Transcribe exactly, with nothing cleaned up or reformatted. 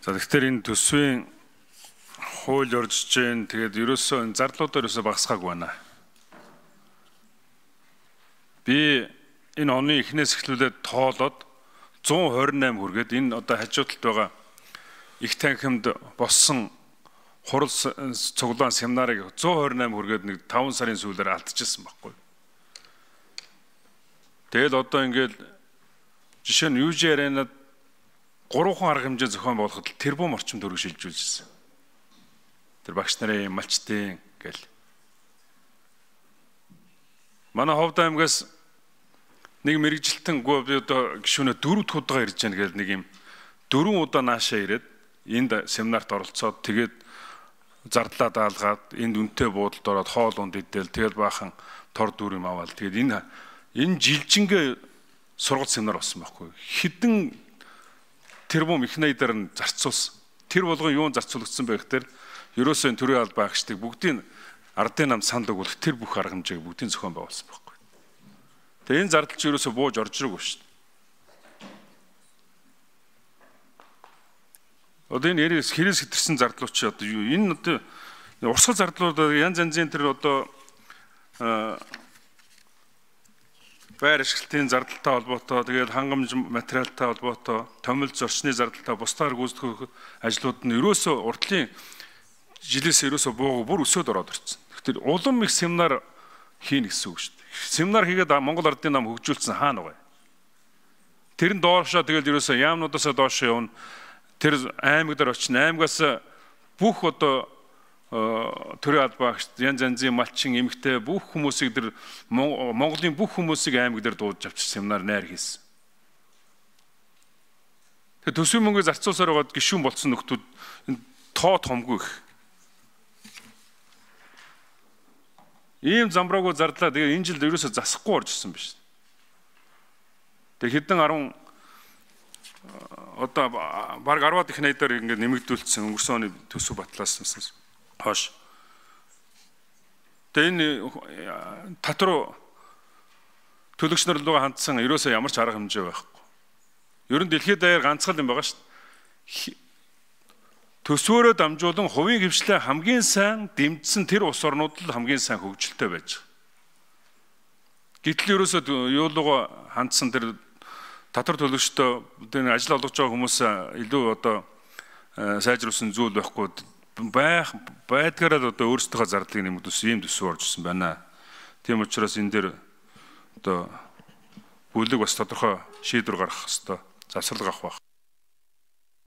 За тэгэхээр энэ төсвийн хууль орж ийн тэгээд ерөөсөө энэ зардлуудаар ерөөсөө багасгаагүй байна. Би энэ оны эхнээс эхлүүлээд тоолоод зуун хорин найман хүргээд энэ одоо хажууталд байгаа их танхимд боссон хурал цуглаан семинарыг зуун хорин найман хүргээд нэг таван сарын сүүлээр алдчихсан байхгүй. Тэгэл одоо ингээд жишээ нь ю жи аренад гурван арга хэмжээ зохион болгоход тэрбум орчим төгрөг шилжүүлжсэн. Тэр багш нарын малчтын гэл. Манай Ховд аймгаас нэг мэрэгжилтэн гоо би одоо гишүүнээ дөрөв дахь удаа ирж байна гэл нэг юм дөрвөн удаа наашаа ирээд энд семинарт оролцоод тэгээд зардлаа даалгаад энд үнэтэй буудалд ороод хоол унд идэл тэгэл баахан тор дүр юм аваад тэгээд энэ энэ жилжингээ сургалт семинар болсон байхгүй. Хэдэн тэрбум их найдаар нь зарцуулсан. Тэр болгон юун зарцуулагдсан байх тэр ерөөсөө төрийн албан багшдыг бүгдийн ардын нам санд өгөх тэр бүх арга хэмжээг бүгдийн зохион байгуулсан байхгүй. Тэгээ энэ зардал чи ерөөсөө бууж орж ирээгүй шүү дээ. Одоо энэ ярээс хэрэгс хэтэрсэн зардлууд чи одоо юу? Энэ одоо урсгал зардлууд янз янзын тэр одоо байр ашиглалтын зардалтай холбоотой, тэгээд хангамж материалтай холбоотой, томилж зорчны зардалтай бусдаар гүйцэтгэх ажлууд нь ерөөсөө урдлын жилээс ерөөсөө бууг бүр өсөд ороод ирсэн. Тэгэхээр улам их семинар хийнэ гэсэн үг шүү дээ. Семинар хийгээд Монгол ардын нам хөгжүүлсэн хаана вэ? Тэр нь доошоо тэгэл ерөөсөө яамнуудаасаа доошоо явна. Тэр аймаг дээр очно. Аймагаас бүх одоо төрийн албан багш янз янзын малчин эмэгтэй бүх хүмүүсийг тэр Монголын бүх хүмүүсийг аймаг дээр дуудаж авчир семинар найр хийсэн. Тэгээ төсвийн мөнгөийг зарцуулсаар байгаад гишүүн болсон нөхдүүд тоо томгүй их. Ийм замбраагүй зардлаа тэгээ энэ жилд ерөөсө засахгүй орж ирсэн биш. Тэгээ хэдэн арван одоо баг арваад их найдаар ингээд нэмэгдүүлсэн өнгөрсөн оны төсөв батлаасан хойш. Тэгээ энэ татвар төлөгч нар руу хандсан ерөөсөө ямар ч арга хэмжээ байхгүй. Ер нь дэлхийд даяар ганцхан юм байгаа шүү дээ. Төсвөөрөө дамжуулан хувийн хвшлээ хамгийн сайн дэмжсэн тэр улс орнууд л хамгийн сайн хөгжилтэй байж байгаа. Гэтэл ерөөсөө юу руу хандсан тэр татвар төлөгчдөө тэр ажил олгож байгаа хүмүүс илүү одоо сайжруулсан зүйл байхгүй байх байдгаараа одоо өөрсдийнхөө зардлыг нэмэгдүүлсэн ийм төсөв орж ирсэн байна. Тийм учраас энэ дээр одоо бүлэг бас тодорхой шийдвэр гаргах хэрэгтэй, засвар авах байх.